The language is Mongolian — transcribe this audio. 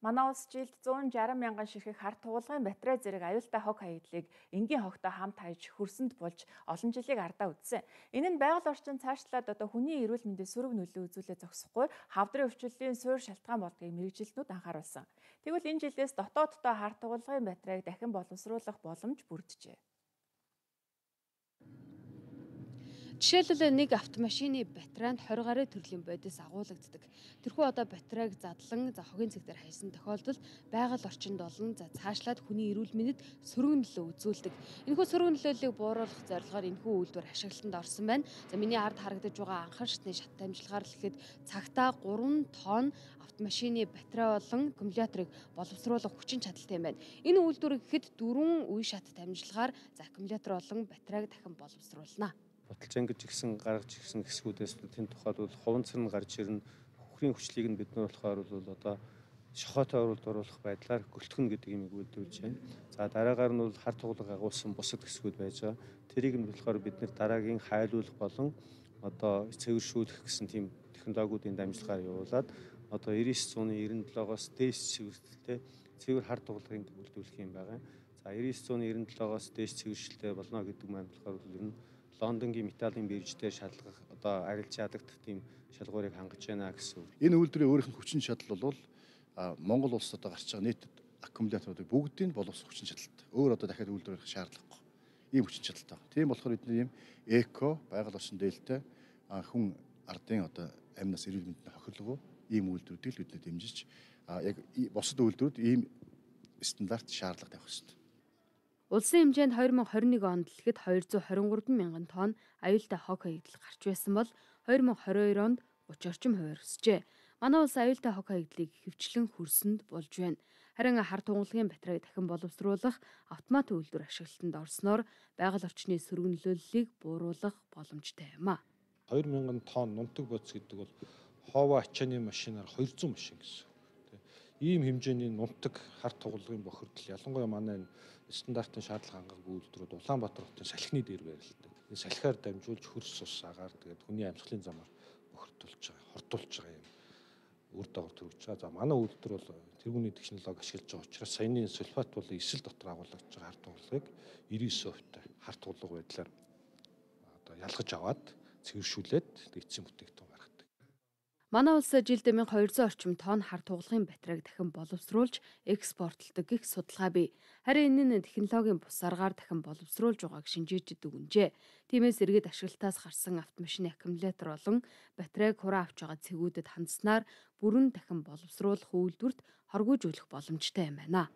Манай улс жилд 160 мянган ширхэг хар тугуулгын батарей зэрэг аюултай хог хаягдлыг энгийн хогтой хамт хаяж хөрсөнд болж олон жилийг ардаа үтсэн. Энэ нь байгаль орчин цаашлаад хүний эрүүл мэндэд сөрөг нөлөө үзүүлээ зогсохгүй хавдрын өвчлөлийн суурь шалтгаан болдгийг мэрэгжилтнүүд анхааруулсан. Тэгвэл энэ жилээс дотооддоо хар тугуулгын батарейг дахин боловсруулах боломж бүрджээ. Жишээлбэл нэг автомашины батарейнд 20 гаруй төрлийн бодис агуулгаддаг. Тэрхүү одоо батарейг задлан хогийн цэг дээр хайсан тохиолдолд байгаль орчинд олон цаашлаад хүний эрүүл мэндэд сөрөг нөлөө үзүүлдэг. Энэхүү сөрөг нөлөөллийг бууруулах зорилгоор энэхүү үйлдвэр ашиглалтанд орсон байна. За миний ард харагдаж байгаа анхан шатны шат дамжлагаар л ихэд цагтаа 3 тонн автомашины батарей болон аккумуляторыг боловсруулах хүчин чадалтай юм байна. Энэ үйлдвэр гэхэд 4 үе шат дамжлагаар аккумулятор болон батарейг дахин боловсруулна. Баталжин гэж гисэн гаргаж ирсэн хэсгүүдээс тэнд тухайд бол хуванц нь гарч ирнэ. Хөхрийн хүчлийг нь бид нар болохоор бол одоо шохоотой оруулах байдлаар гөлтгөн гэдэг юм үйлдвэрлэж байна. За дараагаар нь бол хар тугалаг агуулсан бусад хэсгүүд байж байгаа. Тэрийг нь болохоор бид нар дараагийн хайлуулах болон одоо цэвэршүүлэх гэсэн тийм технологиудын дамжлагаар явуулаад одоо 9997-оос дээш цэвэрлэлтэй цэвэр хар тугалагыг үйлдвэрлэх юм байгаа. За 9997-оос дээш цэвэршилтэй болно гэдэг маань болохоор ер нь Лондонгийн металлын бирждээр шалгах одоо арилж ядагдах тийм шалгуурыг хангаж байна гэсэн үг. Энэ үйлдвэрийн өөрийнх нь хүчин чадал бол Монгол улсад гарч байгаа нийт аккумуляторуудыг бүгдийг боловсрох хүчин чадалтай. Өөр одоо дахиад үйлдвэрлэх шаардлагагүй. Ийм хүчин чадалтай. Тийм болохоор бидний ийм эко байгаль орчин дээлтэй хүн ардын одоо амнаас эрүүл мэндэд хохирлого ийм үйлдвэрүүдийг л бид дэмжиж яг бусад үйлдвэрүүд ийм стандарт шаардлага тавих хэрэгтэй. Улсын хэмжээнд 2021 онд л ихэд 223 мянган тонн аюултай хог хаягдал гарч байсан бол 2022 онд 30 орчим хувиар өсжээ. Манай улс аюултай хог хаягдлыг хэвчлэн хөрсөнд болж байна. Харин хар тугалгын батарейг дахин боловсруулах автомат үйлдвэр ашиглалтанд орсноор байгаль орчны сөрөг нөлөөллийг бууруулах боломжтой юм а. 2000 тонн нунтаг бодис гэдэг бол ховоо ачааны машинаар 200 машин гэсэн. Ийм хэмжээний нунтаг хар тугалгын бохирдол ялангуяа манай стандартын шаардлага хангалтгүй үйлдвэрүүд Улаанбаатар хотын салхины дээр байрлалдаг. Энэ салхиар дамжуулж хөрс ус агаар тэгээд хүний амьсгалын замаар бохирдуулж байгаа, хордуулж байгаа юм үр дагавар төрүүлж байгаа. За манай үйлдвэр бол тэргүүний технологи ашиглаж байгаа учраас саяны сульфат бол эсэл дотор агуулгаж байгаа хар тугалгыг 99% хар тугалга байдлаар одоо ялгаж аваад цэвэршүүлээд эцсийн бүтээгдэхүүн гаргадаг. Манай улс жилд 1200 орчим тонн хар тугалгын батарейг дахин боловсруулж экспортлдог гэх судалгаа бий. Харин энэ нь технологийн бус аргаар дахин боловсруулж байгааг шинжээчид дүгнжээ. Тиймээс иргэд ашиглалтаас гарсан автомашины аккумулятор болон батарейг хураа авч байгаа цэгүүдэд хандсанаар бүрэн дахин боловсруулах үйлдвэрт хоргүйжүүлэх боломжтой юм байна.